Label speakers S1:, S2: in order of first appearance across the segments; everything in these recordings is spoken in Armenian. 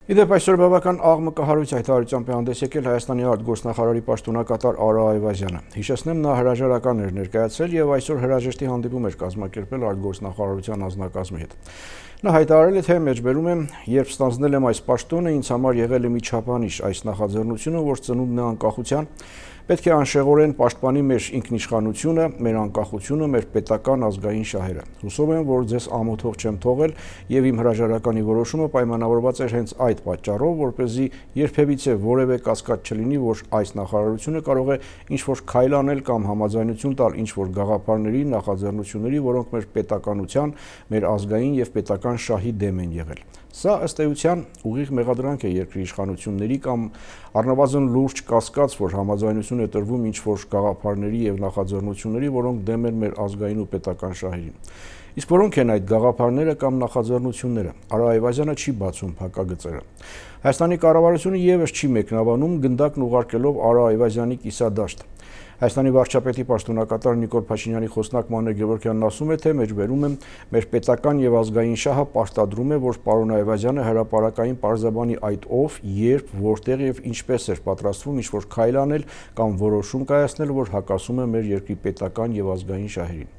S1: Իդեպ այսօր բավական աղմկահարույց հայտարարությամբ է հանդես եկել Հայաստանի արտգործնախարարի պաշտոնակատար Արա Այվազյանը։ Հիշեցնեմ, նա հրաժարական էր ներկայացրել եւ այսօր հրաժեշտի հանդիպում էր կազմակերպել արտգործնախարարության անձնակազմի հետ։ Նա հայտարարել է, թե մեջբերում եմ, երբ ստանձնել եմ այս պաշտոնը, ինձ համար եղել է մի չափանիշ այս նախաձեռնությունը, որ ծնունդն է անկախության, պետք է անշեղորեն պաշտպանի մեր ինքնիշխանությունը, մեր անկախությունը, մեր պետական ազգային շահերը։ Հուսով եմ, որ ձեզ ամոթող չեմ թողել եւ իմ հրաժարականի որոշումը պայմանավորված էր հենց այդ պատճառով, որպեսզի երբևիցե որևէ կասկած չլինի, որ այս նախարարությունը կարող է ինչ-որ քայլ անել կամ համաձայնություն տալ ինչ-որ գաղափարների, նախաձեռնությունների, որոնք մեր պետականության, մեր ազգային եւ պետական շահի դեմ են եղել։ Սա ըստ էության ուղիղ մեղադրանք է երկրի իշխանությունների կամ առնվազն լուրջ կասկած, որ համաձայնություն է տրվում ինչ-որ գաղափարների եւ նախաձեռնությունների, որոնք դեմ են մեր ազգային ու պետական շահերին։ Իսկ որոնք են այդ գաղափարները կամ նախաձեռնությունները։ Արա Այվազյանը չի բացում փակագծերը։ Հայաստանի կառավարությունը եւս չի մեկնաբանում գնդակն ուղարկելով Արա Այվազյանի կիսադաշտ։ Հայաստանի վարչապետի պաշտոնակատար Նիկոլ Փաշինյանի խոսնակ Մանե Գևորգյանն ասում է, թե մեջբերում եմ մեր պետական եւ ազգային շահը պարտադրում է, որ պարոն Այվազյանը հրապարակային պարզաբանի այդ ով, երբ, որտեղ եւ ինչպես էր պատրաստվում ինչ-որ քայլ անել կամ որոշում կայացնել, որ հակասում է մեր երկրի պետական եւ ազգային շահերին։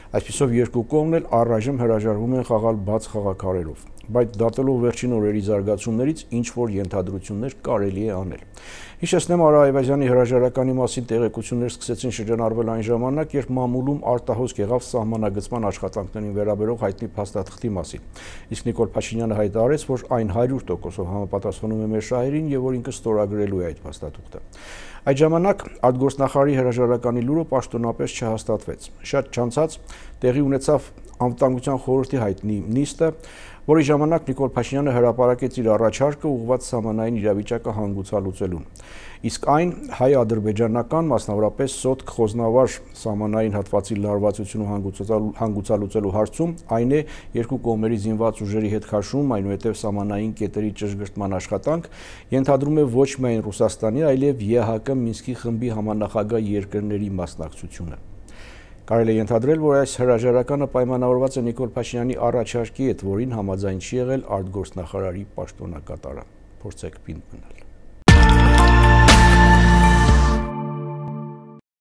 S1: Այսպիսով երկու կողմն էլ առայժմ հրաժարվում են խաղալ բաց խաղաքարերով, բայց դատելով վերջին օրերի զարգացումներից ինչ-որ ենթադրություններ կարելի է անել։ Հիշեցնեմ, Արա Այվազյանի հրաժարականի մասին տեղեկություններ սկսեցին շրջանառվել այն ժամանակ, երբ մամուլում արտահոսք եղավ սահմանագծման աշխատանքներին վերաբերող հայտնի փաստաթղթի մասին։ Իսկ Նիկոլ Փաշինյանը հայտարարեց, որ այն 100%-ով համապատասխանում է մեր շահերին եւ որ ինքը ստորագրելու է այդ փաստաթուղթը։ Այդ ժամանակ արտգործնախարարի հրաժարականի լուրը պաշտոնապես չհաստատվեց։ Շատ չանցած տեղի ունեցավ անվտանգության խորհրդի հայտնի նիստը, որի ժամանակ Նիկոլ Փաշինյանը հրապարակեց իր առաջարկը ուղղված սահմանային իրավիճակը հանգուցալուծելուն։ Իսկ այն հայ-ադրբեջանական, մասնավորապես Սոտք-Խոզնավար սահմանային հատվածի լարվածությունը հանգուցալուծելու հարցում այն է երկու կողմերի զինված ուժերի հետ քաշում, այնուհետև սահմանային կետերի ճշգրտման աշխատանք, ենթադրում է ոչ միայն Ռուսաստանի, այլև ԵԱՀԿ Մինսկի խմբի համանախագահ երկրների մասնակցությունը։ Կարելի է ենթադրել, որ այս հրաժարականը պայմանավորված է Նիկոլ Փաշինյանի առաջարկի հետ, որին համաձայն չի եղել արտգործնախարարի պաշտոնակատարը։ Փորձեք պինդ մնալ։